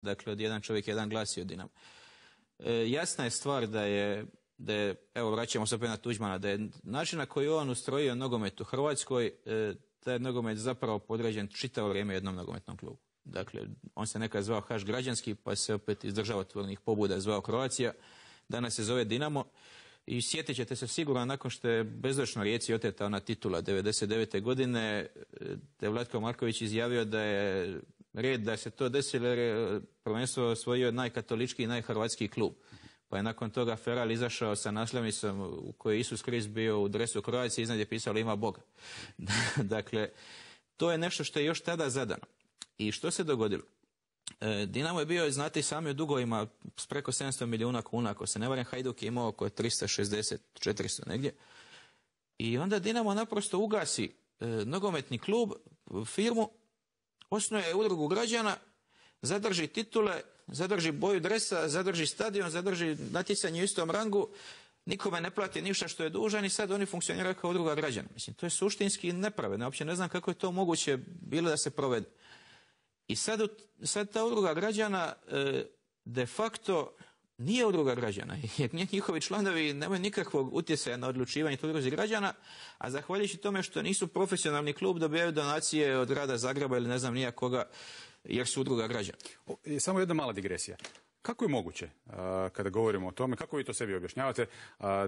dakle od jedan čovjek, jedan glas i od Dinamo. Jasna je stvar da je, evo vraćamo se opet na Tuđmana, da je način na koji on ustrojio nogomet u Hrvatskoj, taj nogomet zapravo podređen čitavo vrijeme jednom nogometnom klubu. Dakle, on se nekad zvao Haš građanski, pa se opet iz državotvornih pobuda zvao Croatia, danas se zove Dinamo. I sjetit ćete se sigurno nakon što je bezdočno Rijeci oteta ona titula 99. godine, da je Vlatko Marković izjavio da je red da se to desilo jer je prvenstvo osvojio najkatoličkiji i najhrvatskiji klub. Pa je nakon toga Feral izašao sa naslovnicom u kojoj je Isus Krist bio u dresu Croacije, iznad je pisalo ima Boga. Dakle, to je nešto što je još tada zadano. I što se dogodilo? Dinamo je bio, znate i sami, u dugovima s preko 700 milijuna kuna, ako se ne varam. Hajduk je imao oko 360, 400 negdje. I onda Dinamo naprosto ugasi nogometni klub, firmu, osnuje udrugu građana, zadrži titule, zadrži boju dresa, zadrži stadion, zadrži natjecanje u istom rangu, nikome ne plati ništa što je dužan i sad oni funkcioniraju kao udruga građana. Mislim, to je suštinski nepravedno. Uopće ne znam kako je to moguće bilo da se provede. I sad ta udruga građana de facto nije udruga građana, jer njihovi članovi nemaju nikakvog utjecaja na odlučivanje toj udruzi građana, a zahvaljujući tome što nisu profesionalni klub, dobijaju donacije od grada Zagreba ili ne znam nija koga, jer su udruga građana. Samo jedna mala digresija. Kako je moguće, kada govorimo o tome, kako vi to sebi objašnjavate,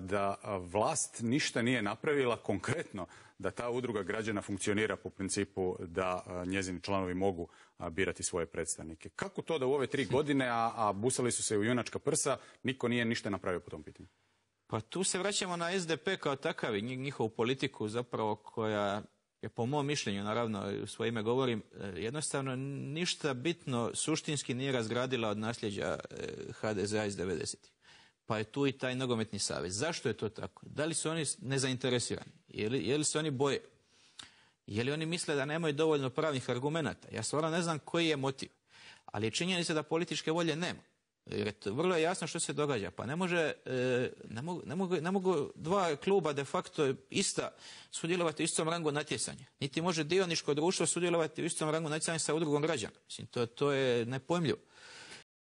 da vlast ništa nije napravila konkretno da ta udruga građana funkcionira po principu da njezini članovi mogu birati svoje predstavnike? Kako to da u ove 3 godine, a busali su se u junačka prsa, niko nije ništa napravio po tom pitanju? Pa tu se vraćamo na SDP kao takav i njihovu politiku zapravo koja je po mom mišljenju, naravno u svoje ime govorim, jednostavno ništa bitno suštinski nije razgradila od nasljeđa HDZ-a iz 90-ih. Pa je tu i taj nogometni savez. Zašto je to tako? Da li su oni nezainteresirani? Je li se oni boje? Je li oni misle da nemaju dovoljno pravnih argumenata? Ja stvarno ne znam koji je motiv. Ali je činjenica da političke volje nema. Jer vrlo je jasno što se događa. Pa ne mogu dva kluba de facto ista sudjelovati u istom rangu natjecanja. Niti može dioničko društvo sudjelovati u istom rangu natjecanja sa udrugom građana. Mislim, to je nepojmljivo.